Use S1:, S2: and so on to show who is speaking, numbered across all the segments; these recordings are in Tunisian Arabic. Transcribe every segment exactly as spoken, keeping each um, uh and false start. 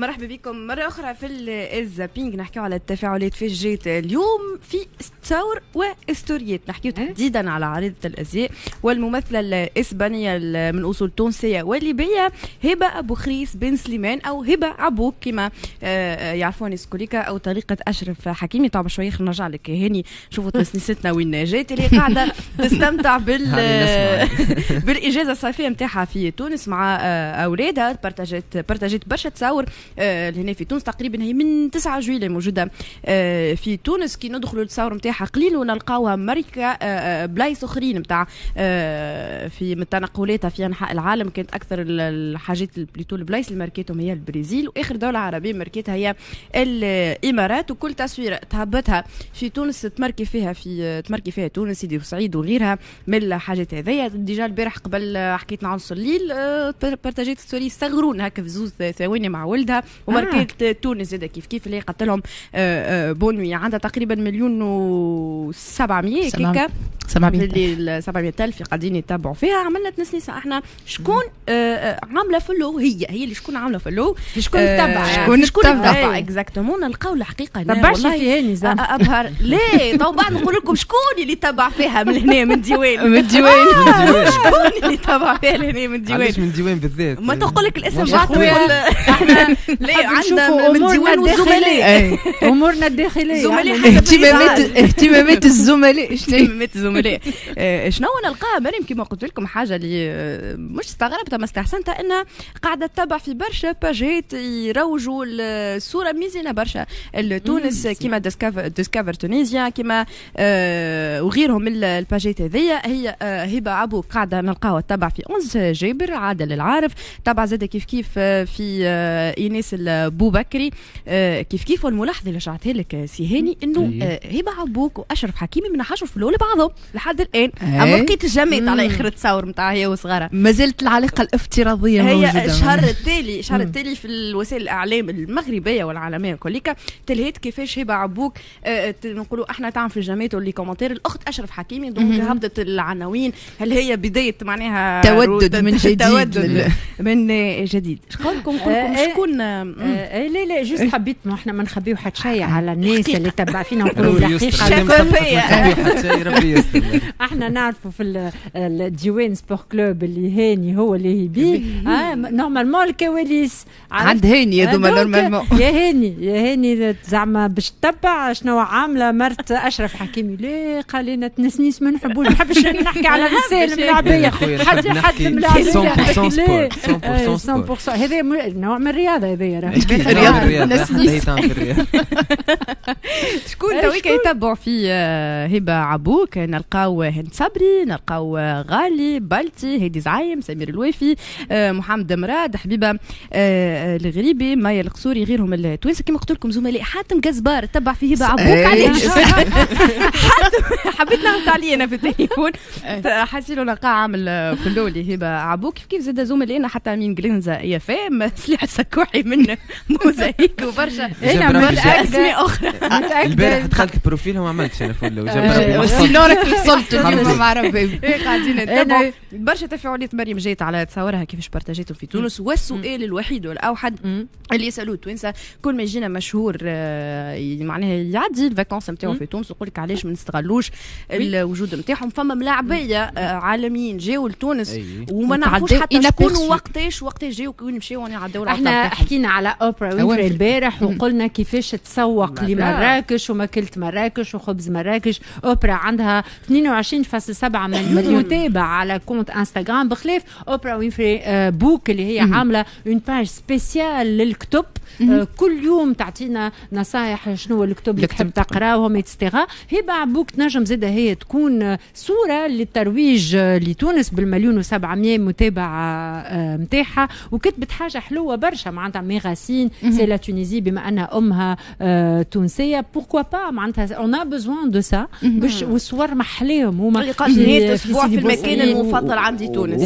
S1: مرحبا بكم مرة أخرى في ال zapping. نحكيو على التفاعلات في جيت اليوم في تصاور وستوريات، نحكيو تحديدا على عارضة الأزياء والممثلة الإسبانية من أصول تونسية وليبية هبة أبو خريس بن سليمان أو هبة عبوك كما آه، يعرفوني سكوليكا أو طريقة أشرف حكيمي. طبعا شوية خلينا نرجع لك هاني، شوفوا تسنيستنا وين جات اللي قاعدة تستمتع بال بالإجازة الصيفية نتاعها في تونس مع آه، أولادها. بارتاجت بارتاجت برشا تصاور آه، هنا في تونس، تقريبا هي من تسعة جويلية موجودة آه، في تونس. كي ندخلوا التصاور نتاعها قليل ونلقاوها مركه آه، بلايص اخرين نتاع في من تنقلاتها في انحاء العالم. كانت اكثر الحاجات plutôt البلايص اللي ماركتهم هي البرازيل، واخر دولة عربية ماركتها هي الامارات. وكل تصويره تهبطها في تونس تماركي فيها في تماركي فيها تونس، سيدي بوسعيد وغيرها من الحاجات هذيا. déjà البارح قبل حكيت مع نص الليل بارتاجيت story صغرون هكا في زوز ثواني مع ولدها وماركت آه. تونس زاد كيف كيف اللي قالت لهم آه، آه، bonne nuit. عندها تقريبا مليون و سبعمية كيكا
S2: سبعمية
S1: سبعمية ألف قاعدين يتابعوا فيها. عملنا تنسنيسة احنا شكون آه عامله follow، هي هي اللي شكون عامله follow،
S3: شكون تبع،
S1: شكون شكون تبع exactement. نلقاو الحقيقة
S3: تبعش في هاني
S1: زعما ابهر ليه تو بعد نقول لكم شكون اللي تبع فيها من هنا من ديوان
S2: من الديوان.
S1: شكون اللي تبع فيها لهنا من ديوان؟
S4: علاش من ديوان بالذات؟
S1: ما تقول لك الاسم بعد تقول احنا لا عندنا من ديوان والزملاء
S3: امورنا الداخليه.
S1: زملاء
S2: اهتمامات اهتمامات الزملاء.
S1: شنو اهتمامات الزملاء؟ شنو نلقاها مريم كما قلت لكم حاجة اللي مش استغربتها ما استحسنتها، انها قاعدة تتبع في برشا باجات يروجوا الصورة ميزانه برشا لتونس كيما Discover Tunisia كيما آه وغيرهم من الباجات هذيا. هي آه هبه عبو قاعدة نلقاوها تتبع في انس جابر، عادل العارف، تبع زاد كيف كيف في آه ايناس البوبكري آه كيف كيف. والملاحظه اللي رجعتها لك سي هاني انه آه هبه عبوك واشرف حكيمي من حشر في الاول بعضهم لحد الان، اما لقيت الجميت على اخر التصاور نتاع هي وصغارها.
S2: ما زالت العلاقة الافتراضية
S1: هي موجودة. الشهر التالي الشهر التالي في الوسائل الاعلام المغربية والعالمية كليكا تلهيت كيفاش هبه عبوك آه نقولوا احنا تعمل في الجامات و les commentaires الاخت اشرف حكيمي، donc هبطت العناوين هل هي بداية معناها
S2: تودد من جديد؟
S1: تودد من جديد. شقولكم نقول شكون؟
S3: آه لا لا juste حبيت ما احنا ما نخبيو حتى شيء على الناس اللي تبع فينا، نقولوا الحقيقة. احنا نعرفوا في الديوان Sport Club اللي هاني هو اللي هي بيه آه normalement الكواليس
S2: عند هاني هذوما normalement.
S3: يا هاني يا هاني زعما باش تتبع شنو عامله مرت اشرف حكيمي؟ ليه قال لنا تنسنيس ما نحبوش، ما نحبش نحكي على النساء الملاعبيه، حد حد الملاعبيه
S4: مية بالمية
S3: مية بالمية. هذا نوع من الرياضة هذايا.
S4: رياضه.
S1: شكون تويك يتبعوا في هبه عبوك؟ نلقاو هند صبري، نلقاو غالي بالتي، هادي زعيم، سمير الوافي، محمد مراد، حبيبه الغريبي، مايا القصوري، غيرهم التوانسة. كما قلت لكم زملاء حاتم جزبار تبع في هبه عبوك. علاش حاتم؟ حبيت نغلط عليه انا في التليفون، حسيلو نلقاه عامل follow لهبه عبوك. كيف كيف زاد زملائنا حتى من جلينزا يا فام سلاح السكوحي من موزايك وبرشا
S3: انا
S1: اسماء اخرى.
S4: البارح دخلت profil وما عملتش انا follow.
S2: sinon راك وصلت مع ربي.
S1: قاعدين نتابعوا برشا تفاعلات. مريم جات على تصورها كيفاش بارتاجيتهم في تونس. والسؤال الوحيد والاوحد اللي يسالوه التوانسة كل ما يجينا مشهور معناها يعدي ال vacances نتاعو في تونس يقول لك علاش ما نستغلوش الوجود نتاعهم؟ فما ملاعبيه عالميين جاوا لتونس وما نعرفوش حتى شكون وقتاش وقتاش جاوا وين مشاو يعدوا.
S3: احنا حكينا على اوبرا وينفري البارح وقلنا كيفاش تسوق لمراكش وماكلة مراكش وخبز مراكش. اوبرا عندها اثنين وعشرين فاصل سبعة مليون متابع على compte انستغرام، بخلاف اوبرا وينفري Book اللي هي عامله une page spéciale للكتب، كل يوم تعطينا نصائح شنو الكتب اللي تحب تقراهم et cetera. هبه عبوك تنجم زاده هي تكون صوره للترويج لتونس بالمليون وسبعمية متابع نتاعها، وكتبت حاجة حلوة برشا معناتها mes racines c'est la Tunisie، بما انها امها تونسيه، pourquoi pas؟ معناتها on a besoin de ça باش والصور محلاها. محليهم هما
S1: اللي قال نهاية اسبوع في المكان المفضل عندي تونس.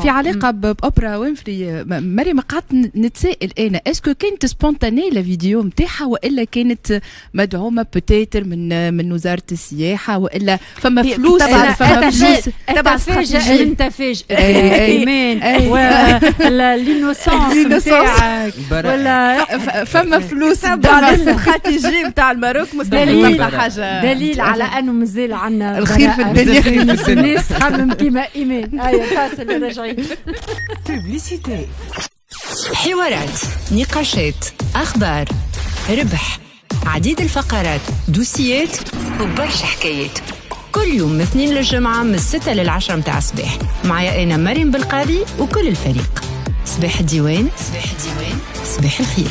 S2: في علاقة باوبرا وينفري مريم، قعدت نتسائل انا est-ce que كانت spontanée la vidéo نتاعها والا كانت مدعومة peut-être من من وزارة السياحة، والا فما فلوس؟
S3: فما فلوس تبع تفاجئ انت فاجئ ايمان ولا l'innocence نتاعك، ولا
S2: فما فلوس
S1: تبع الاستراتيجية نتاع ال Maroc؟ مستحيل تلقى حاجة
S3: دليل على انه مازال عندنا
S2: الخير في الدنيا،
S3: الناس تخمم كيما ايمان. هيا فاصل راجعين.
S5: publicité، حوارات، نقاشات، اخبار، ربح، عديد الفقرات، دوسيات وبرشا حكايات، كل يوم من اثنين للجمعة من الستة للعشرة متاع الصباح، معايا أنا مريم بالقاضي وكل الفريق. صباح الديوان، صباح الديوان، صباح الخير.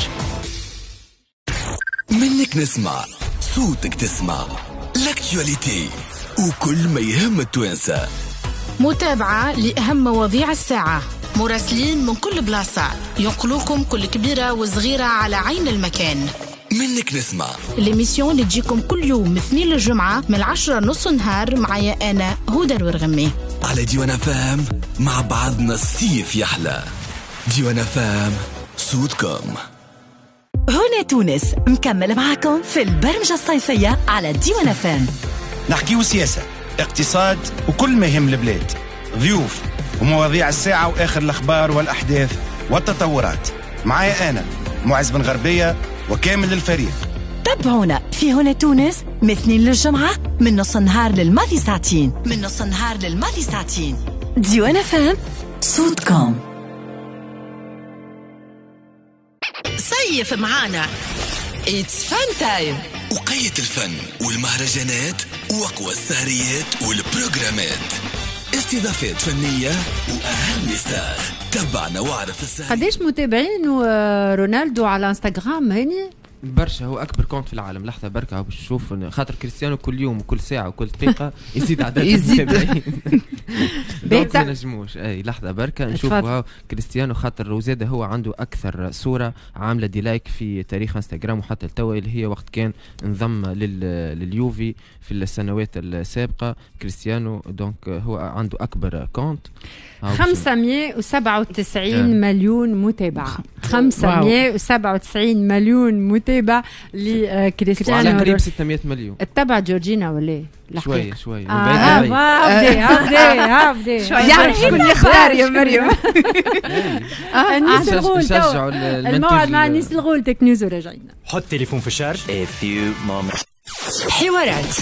S6: منك نسمع صوتك، تسمع l'actualité وكل ما يهم التوانسة.
S7: متابعة لأهم مواضيع الساعة، مراسلين من كل بلاصة ينقلوكم كل كبيرة وصغيرة على عين المكان.
S6: منك نسمع
S7: l'émission اللي تجيكم كل يوم من اثنين للجمعة من العشرة نص نهار، معايا أنا هدى الورغمي
S6: على ديوان فام. مع بعضنا الصيف يحلى. ديوان فام، صوتكم.
S8: هنا تونس مكمل معكم في البرمجة الصيفية على ديوان فام.
S9: نحكيو سياسة، اقتصاد وكل ما يهم البلاد، ضيوف ومواضيع الساعة وآخر الأخبار والأحداث والتطورات. معايا أنا معز بن غربية وكامل الفريق.
S8: تابعونا في هنا تونس من اثنين للجمعة من نص النهار للماضي ساعتين، من نص النهار للماضي ساعتين. ديوان فام، صوتكم.
S7: صيف معانا
S8: it's fun time.
S6: وقية الفن والمهرجانات واقوى السهريات والبروجرامات، استضافات فنية وأهم stars. تبعنا واعرف السهريات.
S3: قداش متابعين رونالدو على انستغرام هاني؟
S4: برشا، هو اكبر compte في العالم. لحظة بركة باش نشوف، خاطر كريستيانو كل يوم وكل ساعة وكل دقيقة يزيد عدد المتابعين، donc ما نجموش. اي لحظة بركة نشوف كريستيانو، خاطر وزاد هو عنده اكثر صوره عامله des likes في تاريخ انستغرام وحتى التوا، اللي هي وقت كان انضم لليوفي في السنوات السابقة كريستيانو، donc هو عنده اكبر compte.
S3: خمسمية وسبعة وتسعين مليون متابع، خمسمية وسبعة وتسعين مليون متابع لكريستيانو،
S4: على قريب ستمية مليون.
S3: اتبع جورجينا ولا
S4: شوية شوية؟
S3: اه هابدي هابدي هابدي
S2: يعرف شكون يختار يا مريم.
S3: انيس الغول، الموعد مع انيس الغول، Tech News وراجعين.
S10: حط تليفون في ال charge.
S5: حوارات.